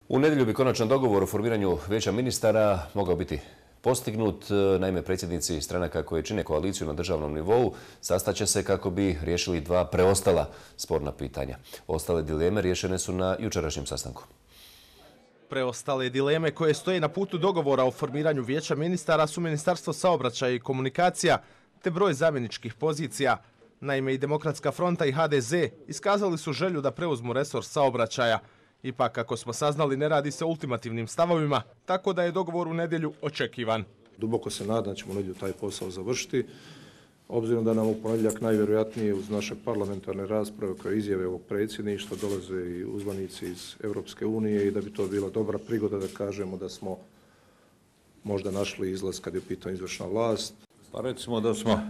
U nedjelju bi konačan dogovor o formiranju vijeća ministara mogao biti postignut. Naime, predsjednici stranaka koje čine koaliciju na državnom nivou sastaće se kako bi riješili dva preostala sporna pitanja. Ostale dileme riješene su na jučerašnjem sastanku. Preostale dileme koje stoje na putu dogovora o formiranju vijeća ministara su Ministarstvo saobraćaja i komunikacija te broj zamjeničkih pozicija. Naime, i Demokratska fronta i HDZ iskazali su želju da preuzmu resor saobraćaja. Ipak, kako smo saznali, ne radi se o ultimativnim stavovima, tako da je dogovor u nedjelju očekivan. Duboko se nadam da ćemo u nedjelju taj posao završiti, obzirom da nam u ponedjeljak najvjerojatnije uz naše parlamentarne rasprave koje izjave ovog predsjedništva dolaze i uzvanici iz Europske unije i da bi to bila dobra prigoda da kažemo da smo možda našli izlaz kad je u pitanju izvršna vlast. Pa recimo da smo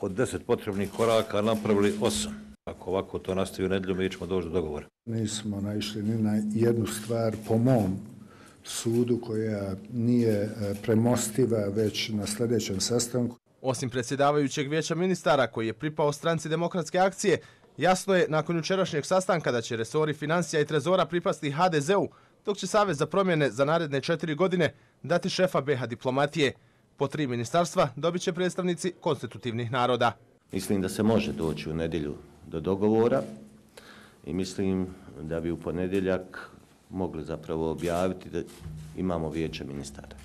od 10 potrebnih koraka napravili 8. Ako ovako to nastavi u nedjelju, mi ćemo doći do dogovora. Nismo naišli ni na jednu stvar po mom sudu koja nije premostiva već na sljedećem sastanku. Osim predsjedavajućeg vijeća ministara koji je pripao stranci Demokratske akcije, jasno je nakon jučerašnjeg sastanka da će resori financija i trezora pripasti HDZ-u, dok će Savez za promjene za naredne 4 godine dati šefa BiH diplomatije. Po 3 ministarstva dobit će predstavnici konstitutivnih naroda. Mislim da se može doći u nedjelju do dogovora i mislim da bi u ponedjeljak mogli zapravo objaviti da imamo vijeće ministara.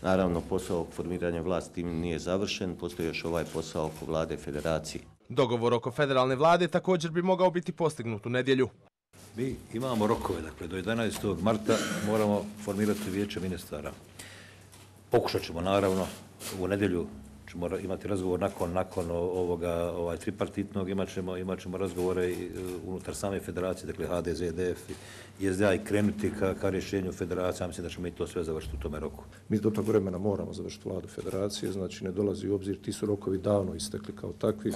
Naravno, posao formiranja vlasti nije završen, postoji još ovaj posao oko vlade federacije. Dogovor oko federalne vlade također bi mogao biti postignut u nedjelju. Mi imamo rokove, dakle do 11. marta moramo formirati vijeće ministara. Pokušat ćemo naravno u nedjelju ćemo imati razgovor nakon ovoga tripartitnog, imat ćemo razgovore unutar same federacije, dakle HDZ, DF i SDA i krenuti ka rješenju federacije. Mislim da ćemo i to sve završiti u tome roku. Mi do tog vremena moramo završiti vladu federacije, znači ne dolazi u obzir, ti su rokovi davno istekli kao takvi.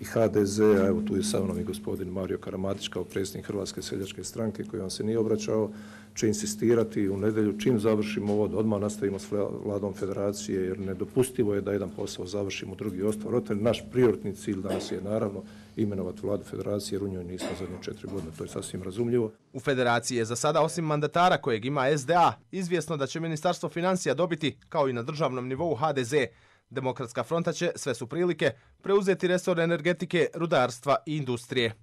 I HDZ, a evo tu je sa mnom i gospodin Mario Karamatić kao predsjednik Hrvatske seljačke stranke koji vam se nije obraćao, će insistirati u nedjelju čim završimo ovo, odmah nastavimo s vladom federacije jer nedopustivo je da jedan posao završimo, drugi ostvar. Naš prioritetni cilj danas je naravno imenovati vladu federacije jer u njoj nismo zadnje 4 godine, to je sasvim razumljivo. U federaciji je za sada osim mandatara kojeg ima SDA izvjesno da će Ministarstvo financija dobiti, kao i na državnom nivou HDZ. Demokratska fronta će, sve su prilike, preuzeti resor energetike, rudarstva i industrije.